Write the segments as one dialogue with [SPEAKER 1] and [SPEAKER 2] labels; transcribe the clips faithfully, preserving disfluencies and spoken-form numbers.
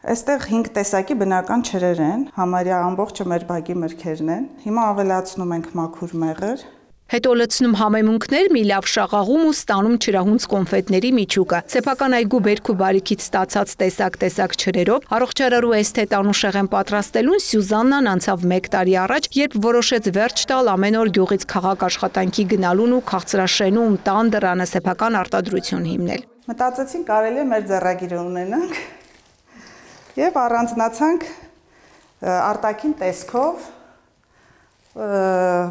[SPEAKER 1] Այստեղ հինգ տեսակի բնական ջրեր են, համարյա ամբողջը մեր բակի մրգերն են։ Հիմա ավելացնում ենք մաքուր մեղր։
[SPEAKER 2] Հետո լցնում համեմունքներ, մի լավ շաղաղում ու ստանում ջրահունց կոնֆետների միջուկը։ Սեփական այգու բերք ու բարիքից ստացած տեսակ-տեսակ ջրերով առողջարարու էսթետ Անուշեղեն պատրաստելուն Սյուզաննան անցավ մեկ տարի առաջ, երբ որոշեց վերջ տալ ամեն օր գյուղից քաղաք աշխատանքի գնալուն ու քաղցրաշենում տան դռանը սեփական արտադրություն հիմնել։
[SPEAKER 1] Մտածեցին կարելի է մեր ձեռագիրը ունենանք եւ առանձնացանք արտաքին տեսքով,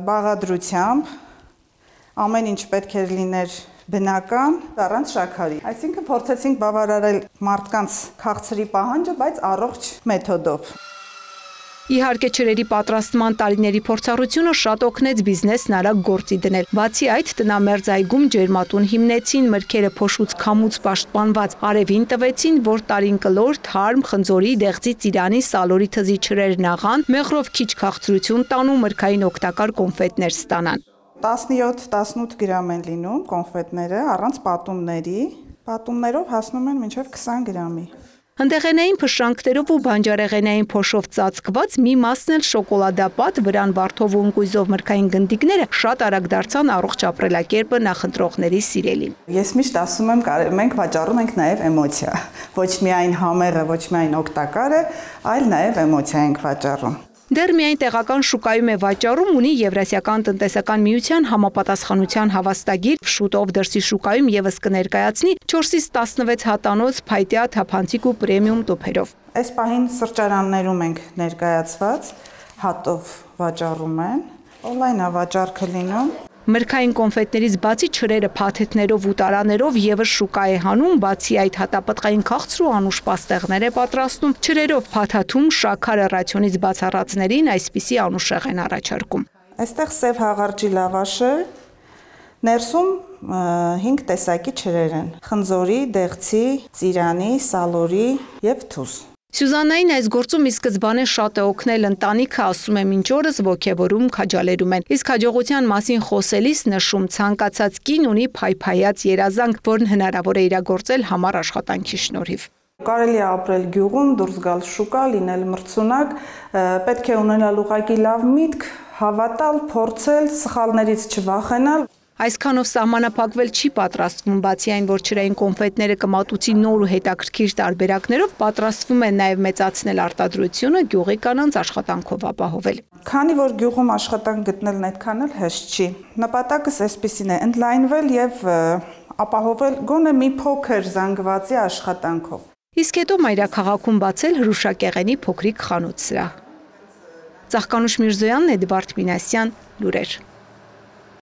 [SPEAKER 1] բաղադրությամբ, ամեն ինչ պետք էր լիներ բնական, առանց շաքարի։ Այսինքն փորձեցինք բավարարել մարդկանց քաղցրի պահանջը, բայց առողջ մեթոդով։
[SPEAKER 2] Իհարկե ջրերի պատրաստման տարիների փորձառությունը շատ օգնեց բիզնեսն արագ գործի դնել։ Բացի այդ, տնամերձ այգում ջերմատուն հիմնեցին, մրգերը փոշուց քամուց պաշտպանված արևին տվեցին, որ տարին կլոր, թարմ, խնձորի, դեղձի, ծիրանի, սալորի թզի ջրերն աղան, մեղրով քիչ քաղցրություն տան ու մրգային օգտակար կոնֆետներ ստանան։
[SPEAKER 1] տասնյոթ տասնութ գրամ են լինում կոնֆետները, առանց պատումների, պատումներով հասնում են մինչև քսան գրամի։
[SPEAKER 2] Հնդեղենային փշրանքներով ու բանջարեղենային փոշով ծածկված մի մասն էլ շոկոլադապատ, վրան վարդով ու ընկույզով մրգային գնդիկները շատ արագ դարձան առողջ ապրելակերպը նախընտրողների սիրելին։
[SPEAKER 1] Ես միշտ ասում եմ, մենք վաճառում ենք նաև էմոցիա։ Ոչ միայն համեղը, ոչ միայն օգտակարը, այլ նաև էմոցիա ենք վաճառում։
[SPEAKER 2] Դեռ միայն տեղական շուկայում է վաճառում, ունի Եվրասիական տնտեսական միության համապատասխանության հավաստագիր, շուտով դրսի շուկայում եւս կներկայացնի չորսից տասնվեց հատանոց փայտյա, թափանցիկ ու պրեմիում տուփերով։
[SPEAKER 1] Այս պահին սրճարաններում ենք ներկայացված, հատով վաճառում են, օնլայն է վաճառքը լինում։
[SPEAKER 2] Մրգային կոնֆետներից բացի ջրերը փաթեթներով ու տարաներով եւս շուկա է հանում, բացի այդ հատապտղային քաղցր ու անուշ պաստեղներ է պատրաստում, ջրերով փաթաթում, շաքարը ռացիոնից բացառածներին այսպիսի Անուշեղ են առաջարկում։
[SPEAKER 1] Այստեղ սև հաղարջի լավաշը, ներսում հինգ տեսակի ջրեր են՝ խնձորի, դեղձի, ծիրանի, սալորի եւ թուզ։
[SPEAKER 2] Սյուզաննային այս գործում ի սկզբանե շատ է օգնել ընտանիքը, ասում է մինչ օրս ոգևորում, քաջալերում են։ Իսկ հաջողության մասին խոսելիս նշում ցանկացած կին ունի փայփայած երազանք, որն հնարավոր է իրագործել համառ աշխատանքի շնորհիվ։
[SPEAKER 1] Կարելի է ապրել գյուղում, դուրս գալ շուկա, լինել մրցունակ, պետք է ունենալ ուղղակի լավ միտք, հավատալ, փորձել, սխալներից չվախենալ։
[SPEAKER 2] Այսքանով սահմանափակվել չի պատրաստվում, բացի այն, որ ջրային կոնֆետները կմատուցի նոր ու հետաքրքիր տարբերակներով, պատրաստվում են նաև մեծացնել արտադրությունը, գյուղի կանանց աշխատանքով ապահովել։
[SPEAKER 1] Քանի որ գյուղում աշխատանք գտնելն այդքան էլ հեշտ չի, նպատակս այսպեսին է՝ ընդլայնվել եւ ապահովել գոնե մի փոքր զանգվածի աշխատանքով։
[SPEAKER 2] Իսկ հետո մայրաքաղաքում բացել հրուշակեղենի փոքրիկ խանութ-սրահ։ Ծաղկանուշ Միրզոյանն, Էդվարդ Մինասյան, լուրեր։